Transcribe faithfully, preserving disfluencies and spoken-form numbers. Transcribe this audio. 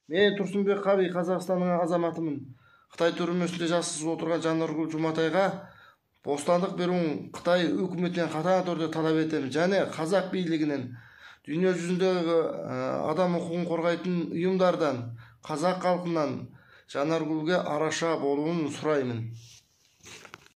Мен Турсунбек Каби, Казакстандын азаматымын. Кытай түрмөсүндө жасырылып отурган Жанаргүл Жуматайга бостандык берүүнү Кытай өкмөтүнөн катаң түрдө талап этем жана казак бийлигинен, дүйнө жүзүндөгү адам укугун коргойтун уюмдардан, казак калкынан Жанаргүлгө араша болууну сураймын.